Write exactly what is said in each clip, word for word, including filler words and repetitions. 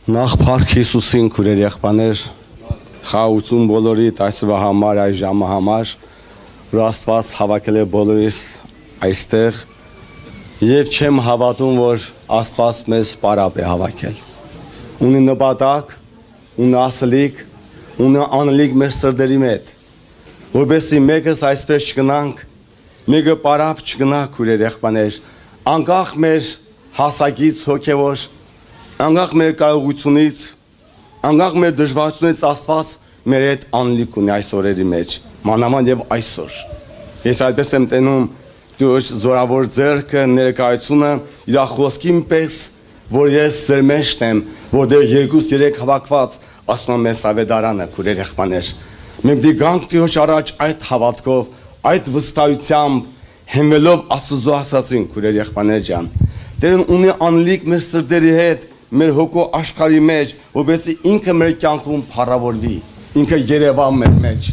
Նախ փառք Հիսուսին քուրեր եղբաներ, խաղաղություն բոլորիդ այսօրվա համար, այս ժամը համար, որ Աստված հավաքել է բոլորիս այստեղ, եւ չեմ հավատում, որ Աստված մեզ պարապ է հավաքել։ Ունի նպատակ, ունի ասելիք, ունի անելիք մեր սրտերի մեջ, որովհետեւ մեկս այսպես չգնանք, մեկը պարապ չգնա քուրեր եղբաներ, անկախ մեր հասակից հոգեոր, անկախ մեր կարողությունից, անկախ մեր դժվարությունից Աստված մեր հետ անելիք ունի այս օրերի մեջ, մանավանդ եւ այսօր։ Ես այդպես եմ տենում Տեր զորավոր ձեռքը ներկայությունը իր խոսքին պես, որ ես ձեր մեջն եմ, որտեղ երկուս երեք հավաքված ասում եմ ավետարանը քուրեր եղբաներ։ Մենք դի գանք Տիրոջ առաջ այդ հավատքով, այդ վստահությամբ հենվելով Աստծո ասածին քուրեր եղբաներ ջան։ Տերն ունի անելիք մեր սրտերի հետ, մեր հոգու աշխարհի մեջ, որովհետեւ ինքը մեր կյանքում փառավորվի, ինքը երևա մեր մեջ։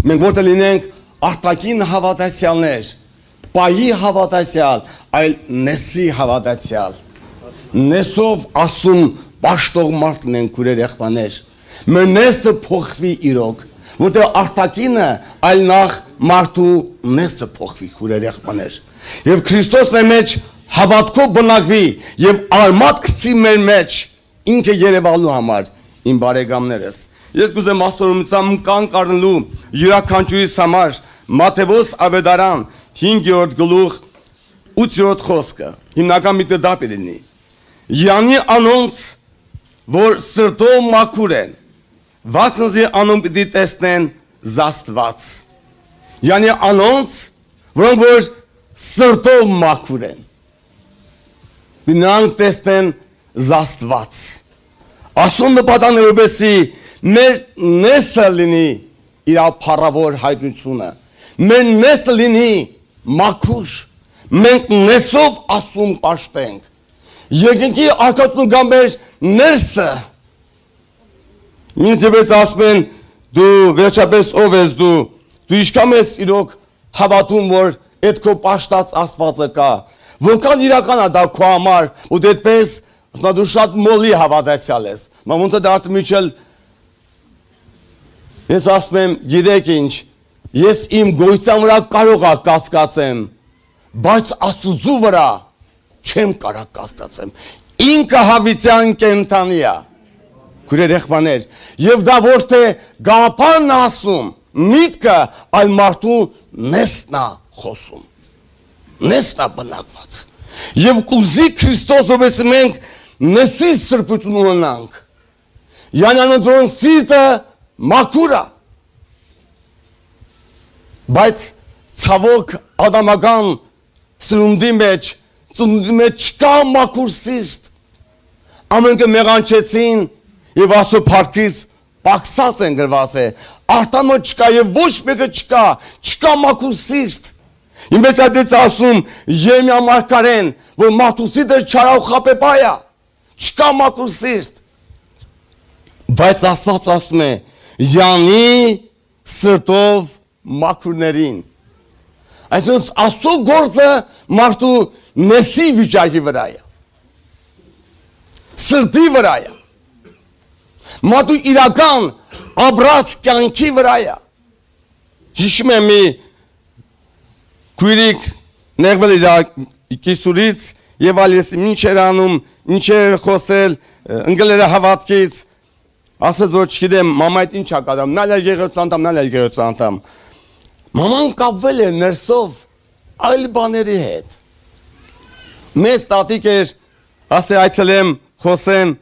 Մենք որտեղ լինենք արտաքին հավատացյալներ, պայի հավատացյալ, այլ նեսի հավատացյալ։ Նեսով ասում պաշտող մարդ լինենք քուրեր եղբաներ։ Մեր նեսը փոխվի իրոք, որտեղ արտաքինը այլ նախ մարդու նեսը փոխվի քուրեր եղբաներ։ Եվ Քրիստոս մեր մեջ հավատքով բնակվի եւ արմատ գցի մեր մեջ ինքը երևալու համար իմ բարեկամներս։ Ես կուզեմ ասորումցամ կան կառնելու յուրաքանչյուրիս համար Մատթեոս ավետարան հինգերորդ գլուխ ութերորդ խոսքը հիմնական մի դեպք լինի։ Յանի անոնց որ սրտով մաքուր են, վասնզի անոնք պիտի տեսնեն զաստված։ Յանի անոնց որոնք որ սրտով մաքուր են, նրանք տեսնեն զաստված։ Ասում նպատակն է որպեսզի մեր նեսը լինի իր փառավոր հայտնությունը, մեր նեսը լինի մաքուր, մենք նեսով ասում պաշտենք։ Երկնքի արկածն կամ մեր ներսը։ Ինձ եւս ասում են դու վերջապես ով ես դու, դու իշքան ես իրոք հավատում որ այդ քո պաշտած Աստվածը կա։ Որքան իրական է դա քո համար, ու դեպպես դու շատ մոլի հավատացյալ ես։ Մանոնց դարձ միջել ես ասում եմ գիտեք ինչ, ես իմ գոյության վրա կարող եմ կասկածեմ, բայց Աստծո վրա չեմ կարող կասկածեմ։ Ինքը հավիտյան կենթանի է։ Քուրեր եղբաներ, եւ դա ոչ թե գաղափարն ասում, միտքը այլ մարդու նեսն է խոսում։ Նեսն է բնակված։ Եվ կուզի Քրիստոս ով մենք նեսի սրբություն ունենանք։ Յանանց որոնց սիրտը մաքուր է։ Բայց ցավոք ադամական սնունդի մեջ, ծնունդի մեջ չկա մաքուր սիրտ։ Ամենքը մեղանչեցին եւ Աստծո փառքից պակսած են գրված է։ Արտանո չկա եւ ոչ մեկը չկա, չկա մաքուր սիրտ։ Ինպես այդպես ասում Երեմիա մարգարեն, որ մարդու սիրտը չարավ խապեպայա, չկա մաքուր սիրտ։ Բայց Աստված ասում է յանի սրտով մաքուրներին։ Այսինքն Աստծո գործը մարդու նեսի վիճակի վրա է։ Սրտի վրա է։ Մարդու իրական ապրած կյանքի վրա է։ Հիշում եմ մի քույրիկ ներվել իր կիսուրից եւ ալիս ինչ էր անում, ինչ էր խոսել, ընկելերը հավատքից, ասաց որ չգիտեմ մամայդ ինչ ա կատարում, նա լավ եկեղեցու անդամ, նա լավ եկեղեցու անդամ։ Մաման կապվել է ներսով այլ բաների հետ։ Մեծ տատիկ էր, ասե այցելեմ, խոսեմ,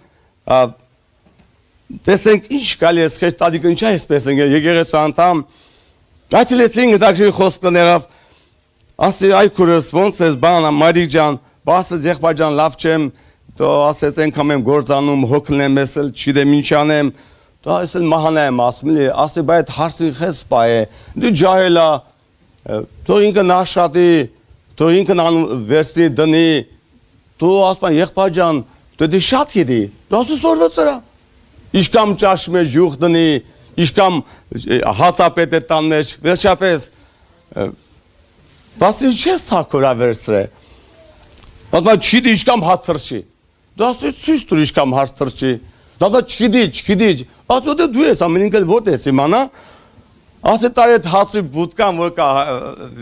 տեսենք ինչ գալի է, քեզ տատիկը ինչ է այսպես ընկել, եկեղեցու անդամ։ Այցելեցին գտակի խոսքներով, ասի այ քուրս ոնց ես բան, Մարիկ ջան, բասը եղբայր ջան լավ չեմ, դու ասես ենքան եմ գործանում, հոգլն եմ եսել, չգիտեմ ինչ անեմ, դու այսել մահանա եմ ասում, էլի, ասի բայց հարցի խես պա է, դու ջահել ա, դու ինքը նաշատի, դու ինքը վերցնի դնի, դու ասում եմ եղբայր ջան, դու դի շատ գիտի, դու ասու սորվեց ыրա, իշքամ ճաշ մեջ յուղ դնի, իշքամ հացապետ է տան մեջ, վերջապես, բասի չես թարքորա վերցրե, ասում եմ չի դի իշքամ հաց թրչի, դու ասու ցույց տուր իշքամ հաց թրչի, դա չգիտի, չգիտի, ասո դե դու ես ամեն ինքդ որտե ես իմանա, ասե տարի այդ հացի բուտկան, որ կա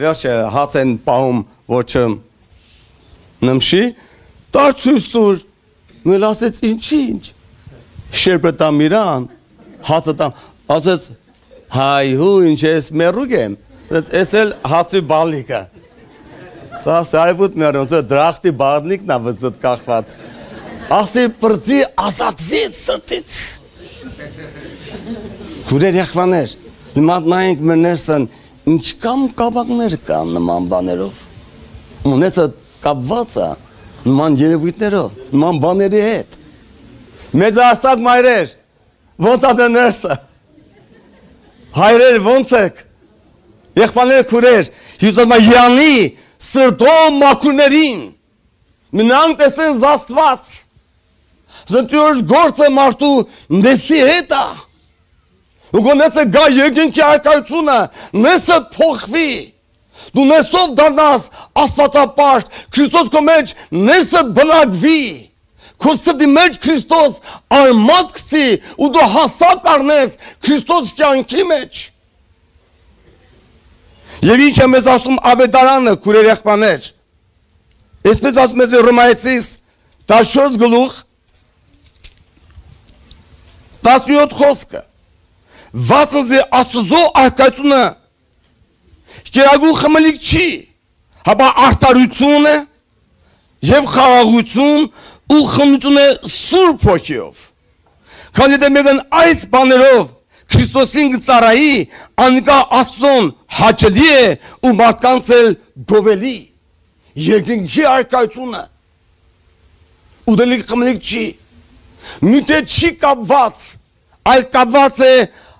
վերջը հաց են պահում, որ չնմշի, տար ցույց տուր, մել ասեց ինչի, ինչ, շերպը տամ իրան, հացը տամ, ասեց հայ հու ինչ ես մերուկ եմ, ես էլ հացի բալիկը, դա սարևուտ մերուն, դրախտի բալիկն է վզըտ կախված, ասի պրծի ասատվից սրտից, քուրեր եղբաներ, հիմա նայենք մեր ներսն, ինչ կամ կապակներ կան նման բաներով, ունեցը կապված է, նման երևույթներով, նման բաների հետ, մեծ ասակ մայրեր, ոնց ադը ներսը, հայրեր ոնց եք, եղբաներ քուրեր, հյուսոմա յանի սրտոմ մակուներին, մնանք տեսեն զաստված, զնտյուրջ գործը մարդու նեսի հետ է, ու գոնեցը գա երկինքի արկայությունը, նեսը փոխվի, դու նեսով դառնաս աստվածապաշտ, Քրիստոս քո մեջ նեսը բնակվի, քո սրտի մեջ Քրիստոս արմատ գցի, ու դու հասակ առնես Քրիստոս կյանքի մեջ։ Եվ ինչ է մեզ ասում ավետարանը, քուրեր եղբայրներ, այսպես ասում է Հռոմայեցիս տասնչորս գլուխ տասնյոթ խոսքը, վասնզի Աստծո արկայությունը կերագու խմելիք չի, հապա արդարություն է և խաղաղություն ու խմություն է Սուրբ Հոգիով։ Քանի դե մեկն այս բաներով Քրիստոսին գծարայի, անիկա Աստծոն հաճելի է ու մարդկանց էլ գովելի, երկինքի արկայությունը, ու դելիք խմելիք չի, միթե չի կապված, այլ կապված է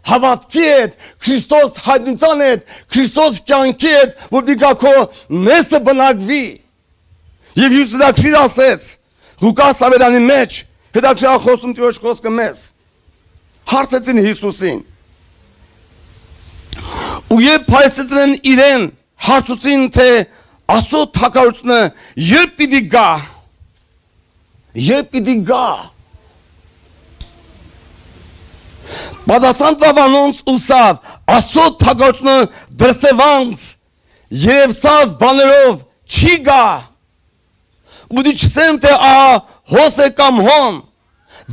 հավատքի հետ, Քրիստոս հայտնության հետ, Քրիստոս կյանքի հետ, որ դիկա քո նեսը բնակվի։ Եվ Հիսուս հետաքրքիր ասեց, Ղուկաս ավետարանի մեջ, հետաքրքիր խոսում Տիրոջ խոսքը մեզ, հարցեցին Հիսուսին, ու երբ փայլեցին իրեն, հարցուցին, թե Աստծո թագավորությունը երբ պիտի գա, երբ պիտի գա, պատասխան տավ անոնց ուսավ, Աստծո թագավորությունը դրսևանց, երևցած բաներով չի գա, ու դի չսեմ, թե ահա հոս է կամ հոն,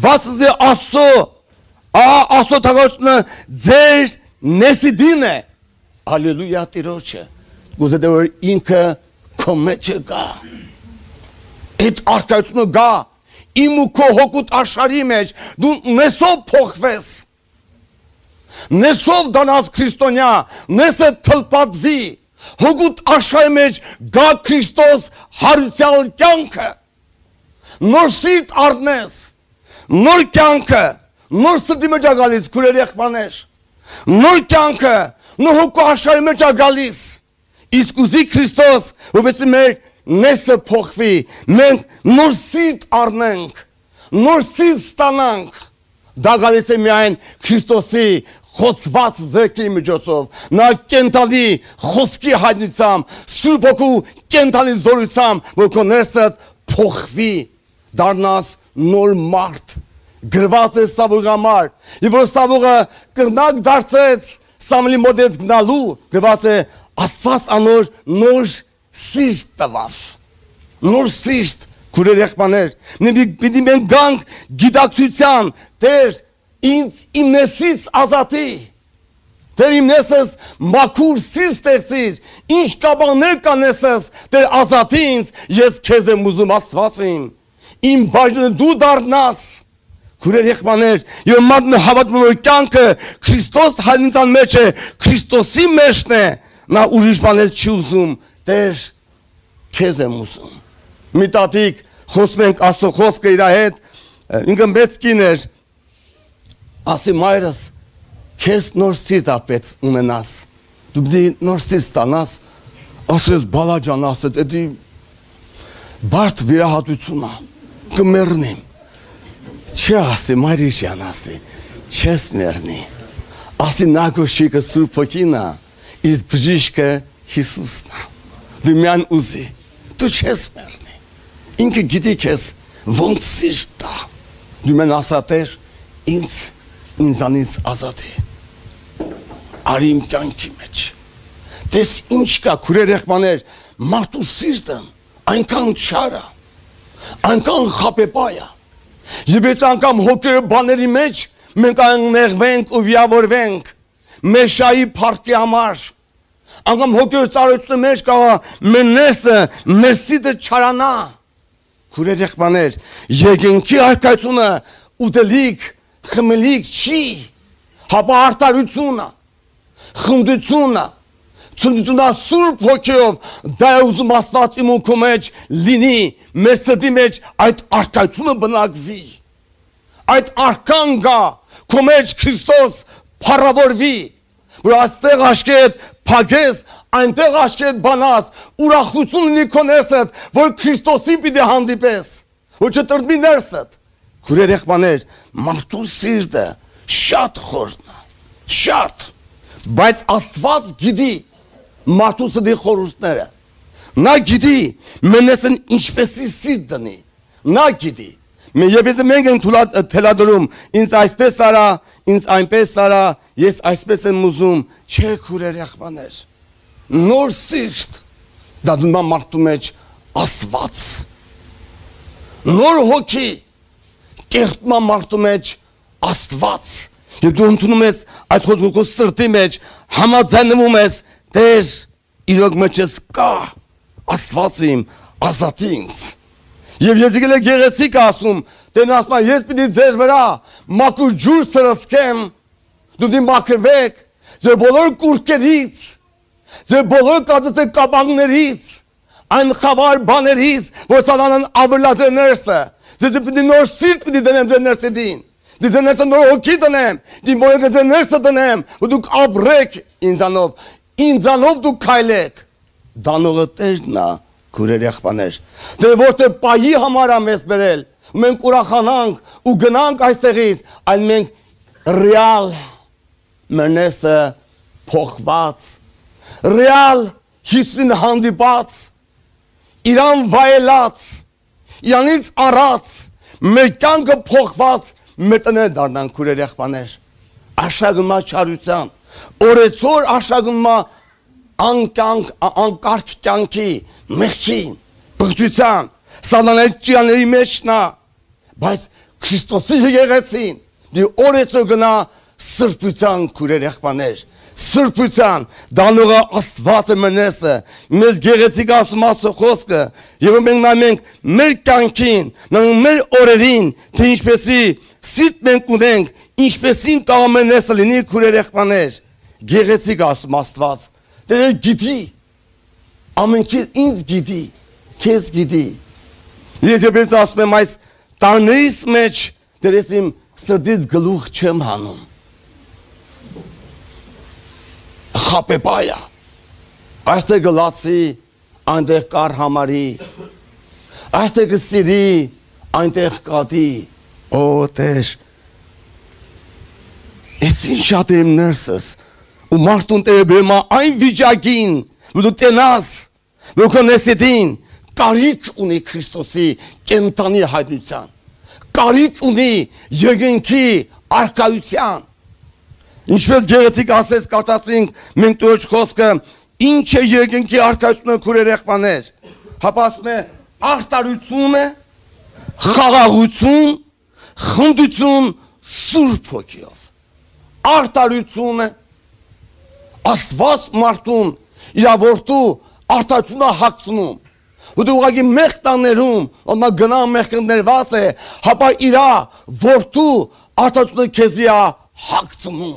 վասնզի Աստծո, ահա Աստծո թագավորությունը ձեր նեսիդին է, Ալելույա Տիրոջը, գուզե դե որ ինքը քո մեջը գա, այդ արկայությունը գա, իմ ու քո հոգուտ աշխարհի մեջ, դու նեսով փոխվես, նեսով դանաս քրիստոնյա, նեսը թլպատվի, հոգուտ աշխարհի մեջ գա Քրիստոս հարության կյանքը, նոր սիրտ առնես, նոր կյանքը, նոր սրտի մեջ է գալիս, քուրեր եղբայրներ, նոր կյանքը, նոր հոգու աշխարհի մեջ է գալիս, իսկ ուզի Քրիստոս, որպեսզի մեր նեսը փոխվի, մենք նոր սիրտ առնենք, նոր սիրտ ստանանք, դա գալիս է միայն Քրիստոսի խոսված ձեռքի միջոցով, նա կենթանի խոսքի հայտնությամբ, Սուրբ Հոգու կենթանի զորությամբ, որ քո ներսդ փոխվի, դառնաս նոր մարդ, գրված է Սավուղի համար, եւ որ Սավուղը կրնակ դարձեց Սամուելի մոտից գնալու, գրված է Աստված անոր նոր սիրտ տվավ, նոր սիրտ, քուրեր եղբայրներ, պիտի մենք գանք գիտակցության, Տեր ինձ իմ նեսից ազատի, Տեր իմ նեսս մաքուր սիրտ ստեղծիր, ինչ կապաններ կա նեսս, Տեր ազատի ինձ, ես քեզ եմ ուզում Աստված իմ, իմ բաժինը դու դառնաս, քուրեր եղբայրներ, եւ մարդը հավատում որ կյանքը Քրիստոս հայտնության մեջ է, Քրիստոսի մեջն է, նա ուրիշ բաներ չի ուզում, Տեր քեզ եմ ուզում։ Մի տատիկ խոսում ենք Աստծո խոսքը իր հետ, ինքը մեծ կին էր, ասի մայրս, քեզ նոր սիրտ ապեց ունենաս, դու պիտի նոր սիրտ ստանաս, ասես բալաջան ասեց, էդի բարդ վիրահատություն է, կմեռնեմ, չի ասի, մայրիշյան ասի, չես մեռնի, ասի նագո շիկը Սուրբ Հոգին է, իսկ բժիշկը Հիսուսն է, դու միան ուզի, դու չես մեռնի, ինքը գիտի քեզ ոնց սիրտ է, դու մեն ասա Տեր, ինձ ինձանից ազատի արի իմ կյանքի մեջ տես ինչ կա քուրեր եղբայրներ մարդու սիրտը այնքան չար է այնքան խաբեբայ է եւ այս անգամ հոգի բաների մեջ մենք աննեղվենք ու վիավորվենք մեշայի փառքի համար անգամ հոգի ծառայության մեջ կա մեր ներսը մեր սիրտը չարանա քուրեր եղբայրներ եկենքի արկայությունը ուտելիք խմելիք չի հապա արտարությունը խնդությունը ծնությունը սուրբ հոգիով դա է ուզում Աստված իմ ու քո մեջ լինի մեր սրտի մեջ այդ արկայությունը բնակվի այդ արքան գա քո մեջ Քրիստոս փառավորվի որ այստեղ աշկի հետ փագես այնտեղ աշկի հետ բանաս ուրախություն ունի քո ներսդ որ Քրիստոսի պիտի հանդիպես որ չտրտմի ներսդ քուրեր եղբայրներ մարդու սիրտը շատ խորն է շատ բայց Աստված գիտի մարդու սրտի խորհուրդները նա գիտի մենեսն ինչպեսի սիրտ դնի նա գիտի Եպես մենք ենք թելադրում ինձ այսպես արա ինձ այնպես արա ես այսպես եմ ուզում չէ քուրեր եղբայրներ նոր սիրտ դա դնում է մարդու մեջ Աստված նոր հոգի կերտում է մարդու մեջ Աստված եւ դու ընդունում ես այդ հոգու սրտի մեջ համաձայնվում ես Տեր իրոք մեջս կա Աստված իմ ազատի ինձ Եվ ես եկել եմ գեղեցիկ ասում, Տերն ասում է, ես պիտի ձեր վրա մաքուր ջուր սրսկեմ, դու դի մաքրվեք, ձեր բոլոր կուրկերից, ձեր բոլոր կատծե կապաններից, այն խավար բաներից, որ սատանան ավրլած է ներսը, ձեր պիտի նոր սիրտ պիտի դնեմ ձեր ներսեդին, դի ձեր ներսը նոր հոգի դնեմ, դի բոլոր ձեր ներսը դնեմ, որ դուք ապրեք ինձանով, ինձանով դուք քայլեք, դանողը Տերն է Քուրեր եղբայրներ, դե որտե պայի համար է մեզ բերել, մենք ուրախանանք ու գնանք այստեղից, այլ մենք ռեալ մերնեսը փոխված, ռեալ հիսին հանդիպած, իրան վայելած, իրանից առած, մեր կյանքը փոխված, մեր տներ դառնան քուրեր եղբայրներ, աշակնմա չարության, օրեցօր աշակնմա անկանք, անկարգ կյանքի, մեղքին, բղծության, սատանայի ճիաների մեջնա, բայց Քրիստոսի եկեղեցին, դի օրեցօր գնա սրբության քուրեր եղբայրներ, սրբության, դանողը Աստված է մեր ներսը, մեզ գեղեցիկ ասում ասո խոսքը, եւ մենք նայենք մեր կյանքին, նայենք մեր օրերին, թե ինչպեսի սիրտ մենք ունենք, ինչպեսին կարող մեր ներսը լինի քուրեր եղբայրներ, գեղեցիկ ասում Աստված Դերը գիտի, ամենքից ինձ գիտի, քեզ գիտի Ես եպես ասում եմ այս տարներից մեջ դեր ես իմ սրտից գլուխ չեմ հանում Խապեբայա Այստեղ գլացի, այնտեղ կար համարի Այստեղ կսիրի, այնտեղ կատի Օ Տեր Ես ինչ շատ եմ ներսս ու մարդուն Տերը բերում է այն վիճակին, որ դու տենաս, որ քո ներսեդին կարիք ունի Քրիստոսի կենթանի հայտնության, կարիք ունի եկենքի արկայության։ Ինչպես գեղեցիկ ասեց կարդացինք մենք Տիրոջ խոսքը, ինչ է եկենքի արկայությունը քուրեր եղբայրներ, հապա ասում է արտարություն է, խաղաղություն, խնդություն Սուրբ Հոգիով, արտարություն է Աստված մարդուն իրավորտու արտացունը հակցնում, ու դու ուղղակի մեղտաներում, ոմա գնան մեղքներված է, հապա իրա որդու արտացունը քեզի է հակցնում,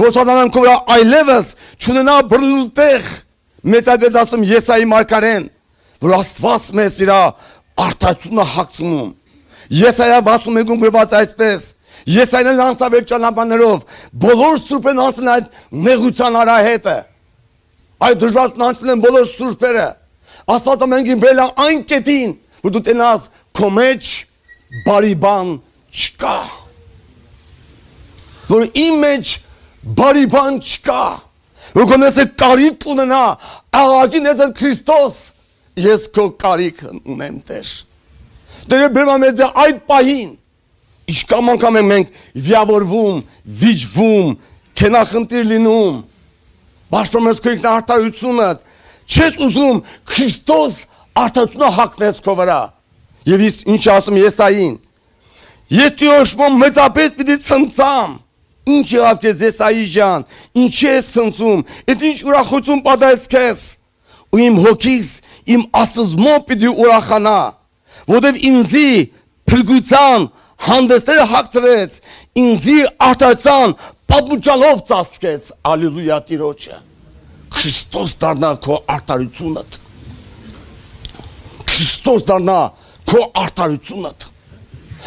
որ սատանան քո վրա այլևս չունենա բռնուտեղ, մեծ այդպես ասում Եսայի մարգարեն, որ Աստված մեզ իրա արտացունը հակցնում, Եսայա վաթսունմեկում գրված այսպես Եսայնեն անցավեր ճանապարհներով, բոլոր սուրբեն անցել այդ նեղության արահետը, այդ դժվարություն անցել են բոլոր սուրբերը, Աստվածը մենք բերել է այն կետին, որ դու տենաս քո մեջ բարի բան չկա, որ իմ մեջ բարի բան չկա, որ քո ներսը կարիք ունենա, աղաղակի ներսը Քրիստոս, ես քո կարիք ունեմ Տեր, Տերը բերում է մեզ այդ պահին, Իշքան անգամ ենք մենք վիավորվում, վիճվում, քենախնդիր լինում։ Բաշխում ես քո ինքնարտահայտությունը, չես ուզում Քրիստոս արդարությունը հագնես քո վրա։ Եվ ինչ ասում Եսային։ Եթե ոշմոն մեծապես պիտի ցնցամ, ինչ եղավ քեզ Եսայի ջան, ինչի ես ցնցում, այդ ինչ ուրախություն պատահեց քեզ։ Ու իմ հոգիս, իմ ասզմոն պիտի ուրախանա, որովհետև ինձի փրկության հանդեսները հագցրեց, ինձի արդարության պատմուճալով ծածկեց, ալելույա Տիրոջը։ Քրիստոս դառնա քո արդարությունդ։ Քրիստոս դառնա քո արդարությունդ։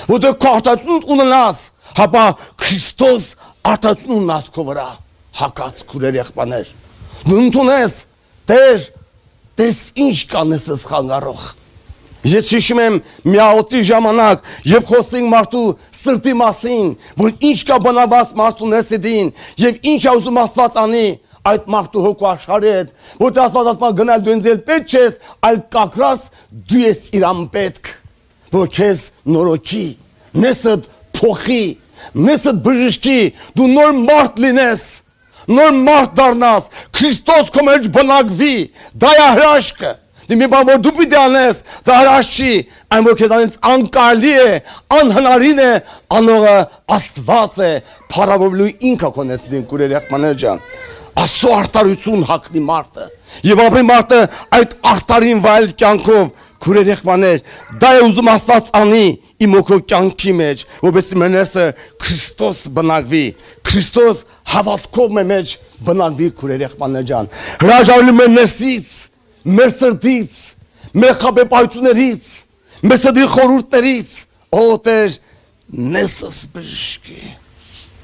Որտեղ քո արդարությունդ ունենաս, հապա Քրիստոս արդարություն ունենաս քո վրա, հակած քուրեր եղբայրներ։ Դու ընդունես, Տեր, տես ինչ կանես ես խանգարող։ Ես հիշում եմ միաոտի ժամանակ, երբ խոսենք մարդու սրտի մասին, որ ինչ կա բնաված մարդու ներսիդին, եւ ինչ է ուզում Աստված անի այդ մարդու հոգու աշխարհի հետ, որտեղ Աստված ասում գնալ դու ինձ էլ պետք չես, այլ կակրաս դու ես իրան պետք, որ քեզ նորոգի, նեսդ փոխի, նեսդ բժշկի, դու նոր մարդ լինես, նոր մարդ դառնաս, Քրիստոս քո մեջ բնակվի, դա է հրաշքը։ Մի բան որ դու պիտի անես, դա հրաշք չի, այն որ քեզանից անկարելի է, անհնարին է, անողը Աստված է, փառավորելու ինքը քո ներսին քուրեր եղբայրներ ջան։ Աստծո արտարություն հագնի մարդը, եւ ապրի մարդը այդ արտարին վայել կյանքով քուրեր եղբայրներ, դա է ուզում Աստված անի իմ հոգու կյանքի մեջ, որովհետեւ մեր ներսը Քրիստոս բնակվի, Քրիստոս հավատքով մեր մեջ բնակվի քուրեր եղբայրներ ջան։ Հրաժարվելու մեր ներսից, մեր սրտից, մեր խաբեբայություններից, մեր սրտի խորհուրդներից, օ Տեր, նեսս բժշկի,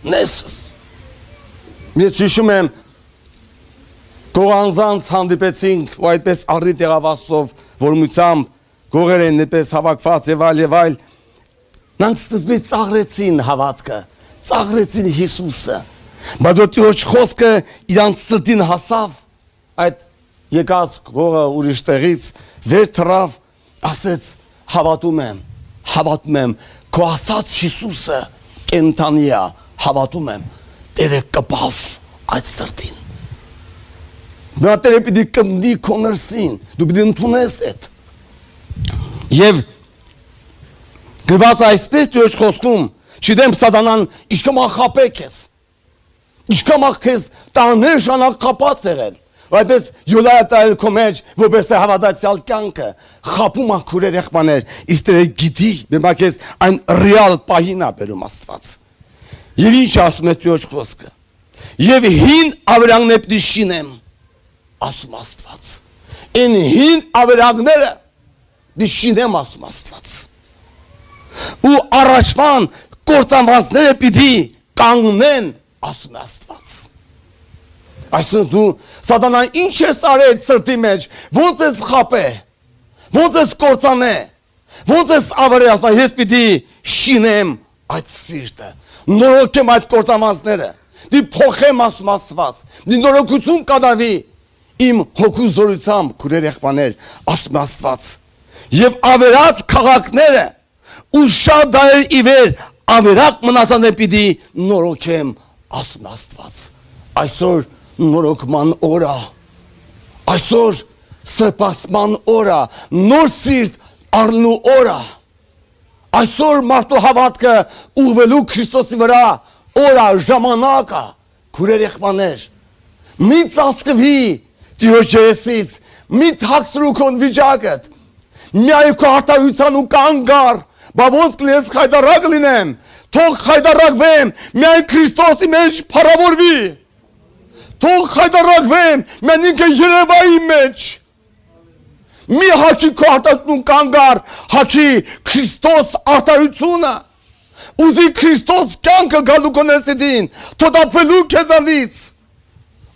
նեսս։ Ես հիշում եմ, գողանձանց հանդիպեցինք, ու այդպես առիթ եղավ Աստծով, որմությամբ գողեր են այդպես հավաքված եւ այլ եւ այլ։ Նրանք սկզբից ծաղրեցին հավատքը, ծաղրեցին Հիսուսը, բայց որ Տիրոջ խոսքը իրանց սրտին հասավ, այդ եկած գողը ուրիշ տեղից վեր թռավ, ասեց հավատում եմ, հավատում եմ, քո ասած Հիսուսը կենթանի է, հավատում եմ, Տերը կպավ այդ սրտին։ Նա Տերը պիտի կմնի քո ներսին, դու պիտի ընդունես այդ։ Եվ գրված այսպես Տիրոջ խոսքում, չգիտեմ Սատանան ինչքան խապեք ես, ինչքան քեզ տաներ շանակ խապած եղել։ Այդպես յուլայատայել քո մեջ, որպես է հավատացյալ կյանքը, խապում ա քուրեր եղբայրներ, իսկ Տերը գիտի, բեմա քեզ այն ռեալ պահին ա բերում Աստված։ Եվ ինչ ասում է Տիրոջ խոսքը։ Եվ հին ավերակները պիտի շինեմ, ասում Աստված։ Այն հին ավերակները պիտի շինեմ, ասում Աստված։ Ու առաջվան կործանվածները պիտի կանգնեն, ասում Աստված։ Այսինքն դու Սատանան ինչ ես արել սրտի մեջ, ոնց ես խապե, ոնց ես կործանե, ոնց ես ավերել, ասում ես պիտի շինեմ այդ սիրտը, նորոգեմ այդ կործանվածները, դի փոխեմ, ասում Աստված, դի նորոգություն կատարվի իմ հոգու զորությամբ, քուրեր եղբայրներ, ասում Աստված, եւ ավերած քաղաքները ու շատ դարեր ի վեր ավերակ մնացածները պիտի նորոգեմ, ասում Աստված։ Այսօր նորոգման օրա, այսօր սրբացման օրա, նոր սիրտ առնու օրա, այսօր մարդու հավատքը ուղղվելու Քրիստոսի վրա օրա, ժամանակա, քուրեր եղբայրներ, մի ծածկվի Տիրոջ երեսից, մի թաքցրու քո վիճակդ, միայն քո արտահայտության ու կանգար, բա ոնց կլինես խայտարակ լինեմ, թող խայտարակվեմ, միայն Քրիստոսի մեջ փառավորվի։ Թող խայտարակվեմ, միայն ինքը երևայի մեջ։ Մի հաքի քո արտահայտություն կանգար, հաքի Քրիստոս արտահայտությունը։ Ուզի Քրիստոս կյանքը գալու քո ներսին, թոթափվելու քեզանից։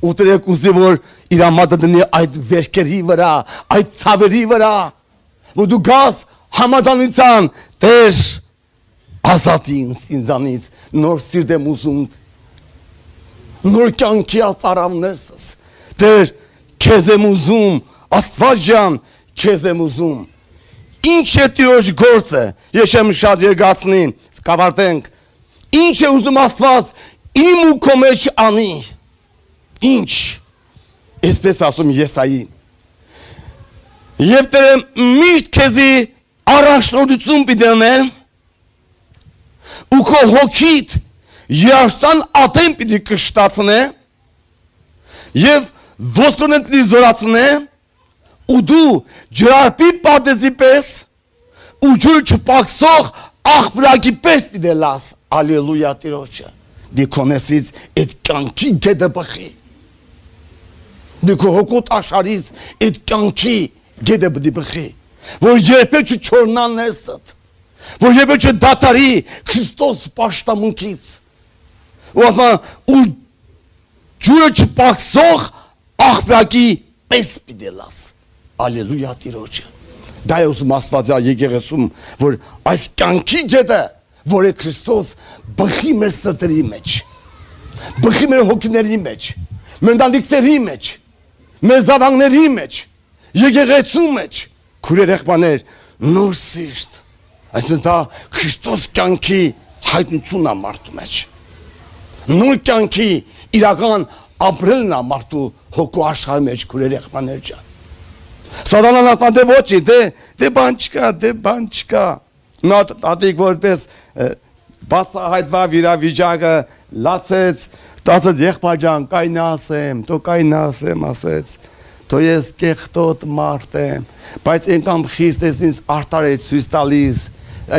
Ու Տերը ուզի որ իր ամատը դնի այդ վերքերի վրա, այդ ցավերի վրա, որ դու գաս համադանության, Տեր, ազատի ինձանից, նոր սիրտ եմ ուզում, նոր կյանքի ածարավ ներսս, Տեր, քեզ եմ ուզում, Աստված ջան, քեզ եմ ուզում, ինչ է Տիրոջ գործը, ես չեմ շատ երկացնի, կավարտենք, ինչ է ուզում Աստված իմ ու քո մեջ անի, ինչ, այսպես ասում Եսային, և Տերը միշտ քեզի առաջնորդություն պիտի ու քո հոգիդ երաշտան ատեն պիտի կշտացնե և ոսկորնեն պիտի զորացնե ու դու ջրարպի պատեզի պես ու ջուր չպակսող աղբրակի պես պիտի լաս, ալելույա Տիրոջը, դի քոնեսից այդ կյանքի գետը բխի, դի քո հոգուտ աշխարհից այդ կյանքի գետը պիտի բխի, որ երբեք չչոռնա ներսդ, որ երբեք չդադարի Քրիստոս պաշտամունքից, ու ջուրը չպակսող աղբրակի պես պիտի լաս, ալելույա Տիրոջը, դա է ուզում Աստվածյա եկեղեցում, որ այս կյանքի գետը, որ է Քրիստոս բխի մեր սրտերի մեջ, բխի մեր հոգիների մեջ, մեր ընտանիքների մեջ, մեր զավակների մեջ, եկեղեցու մեջ, քուրեր եղբայրներ, նոր սիրտ, այսինքն դա Քրիստոս կյանքի հայտնությունն է մարդու մեջ, նոր կյանքի իրական ապրելն է մարդու հոգու աշխարհի մեջ, քուրեր եղբայրներ ջան։ Սատանան ասում դե ոչի, դե դե բան չկա, դե բան չկա։ Նա տատիկ որպես բացահայտվա վիրավիճակը լացեց, ասեց եղբայր ջան, կային ասեմ, թո կային ասեմ, ասեց, թո ես կեղտոտ մարդ եմ, բայց այնքան խիստ ես ինձ արդար է ցույց տալիս,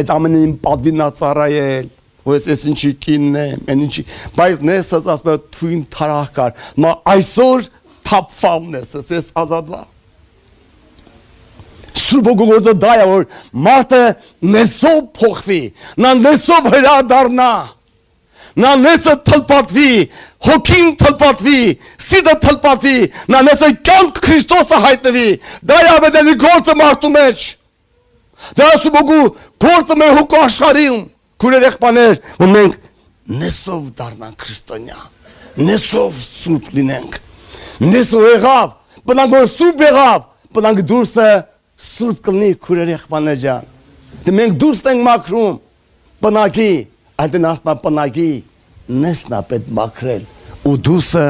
այդ ամենը իմ պատվին ա ծառայել, որ ես ինչի կինն եմ, այն ինչի, բայց նեսս ասում եմ թույն թարախ կար, մա այսօր թափվալն ես, ես ազատվա։ Սուրբ Օգոստը դա է, որ մարդը նեսով փոխվի, նա նեսով հրադառնա, նա նեսը թլպատվի, հոգին թլպատվի, սիրտը թլպատվի, նա նեսը կյանք Քրիստոսը հայտնվի, դա է ավետարանի գործը մարդու մեջ, դա է Սուրբ Օգու գործը մեր հոգու աշխարհում, քուրեր եղբայրներ, որ մենք նեսով դառնանք քրիստոնյա, նեսով սուրբ լինենք, նեսով եղավ, բնանք որ սուրբ եղավ, բնանք դուրսը սուրբ կլնի քուրեր եղբայրներ ջան, դե մենք դուրս ենք մաքրում, բնակի, այդ են արդմա բնակի, նեսն է պետք մաքրել, ու դուսը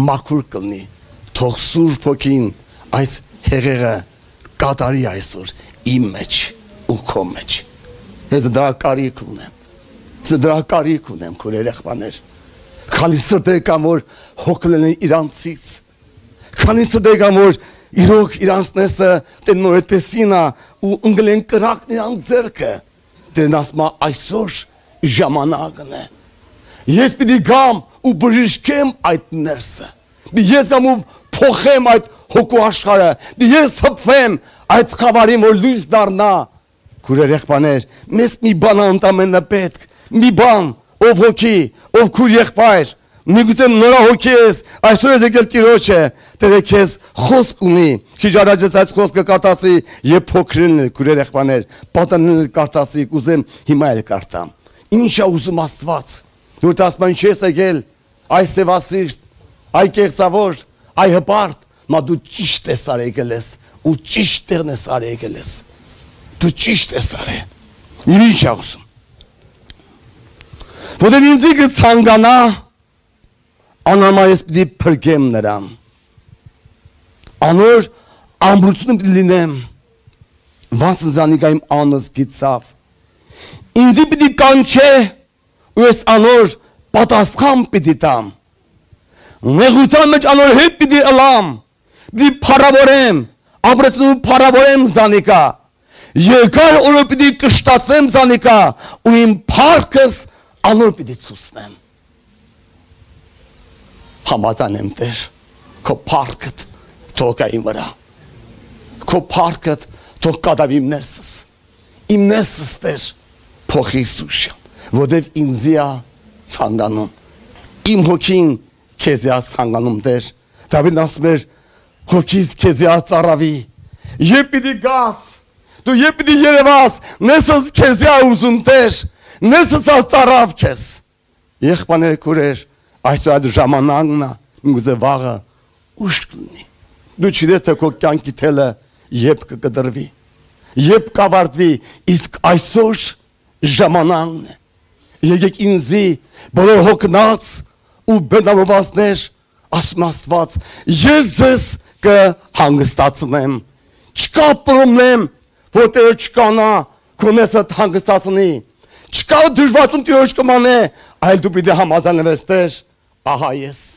մաքուր կլնի, թող սուրբ հոգին այս հեղեղը կատարի այսօր իմ մեջ ու քո մեջ, ես դրա կարիք ունեմ, ես դրա կարիք ունեմ քուրեր եղբայրներ, քանի սրտեր կան որ հոգնել են իրանցից, քանի սրտեր կան որ իրոք իրանց նեսը տեն նոր այդպեսին է ու ընգել են կրակն իրանց ձեռքը, դերն ասում է այսօր ժամանակն է, ես պիտի գամ ու բժշկեմ այդ ներսը, ես գամ ու փոխեմ այդ հոգու աշխարհը, ես հպվեմ այդ խավարին որ լույս դառնա, քուրեր եղբայրներ, մեզ մի բան ընդամենը պետք, մի բան, ով հոգի, ով քուր եղբայր, միգուցե նորա հոգի ես, այսօր ես եկել Տիրոջը, Տերը քեզ խոսք ունի, քիչ առաջ ես այս խոսքը կարդացի եւ փոքրին քուրեր եղբայրներ, պատանին կարդացի, կուզեմ հիմա էլ կարդամ։ Ինչ է ուզում Աստված, որ ասում են չես եկել, այս սևասիրտ, այ կեղծավոր, այ հպարտ, մա դու ճիշտ ես արել եկել ես, ու ճիշտ տեղն ես արել եկել ես։ Դու ճիշտ ես արել։ Իմ ինչ է ուզում։ Որտեղ ինձ կցանկանա անամա ես պիտի փրկեմ նրան, անոր ամբրությունը պիտի լինեմ, վասն զանիկա իմ անս գիծավ, ինձի պիտի կանչե ու ես անոր պատասխան պիտի տամ, նեղության մեջ անոր հետ պիտի ըլամ, պիտի փառավորեմ, ամբրեցնում փառավորեմ զանիկա, երկար օրը պիտի կշտացնեմ զանիկա ու իմ փառքս անոր պիտի ցուցնեմ։ Համաձայնեմ Տեր, քո փառքդ թող գա իմ վրա, քո փառքդ թող կատարվի իմ ներսս, իմ ներսս Տեր փոխի Հիսուսը, որտեվ ինձի է ցանկանում, իմ հոգին քեզի է ցանկանում Տեր, Դավիթն ասում էր, հոգիս քեզի է ծառավի, երբ պիտի գաս, դու երբ պիտի երևաս, ներսս քեզի է ուզում Տեր, ներսս է ծառավ քեզ, եղբայրներ քուրեր, այսօր այդ ժամանակն է, միգուցե վաղը ուշ կլինի, դու չգիտես թե քո կյանքի թելը երբ կկտրվի, երբ կավարտվի, իսկ այսօր ժամանակն է։ Եկեք ինձի բոլոր հոգնած ու բենավորվածներ, ասում Աստված, ես ձեզ կհանգստացնեմ։ Չկա պրոբլեմ, որ Տերը չկանա քոնեսը հանգստացնի։ Չկա դժվարություն Տերը կմանե, այլ դու պիտի համաձայնվես Տեր, ահա ես։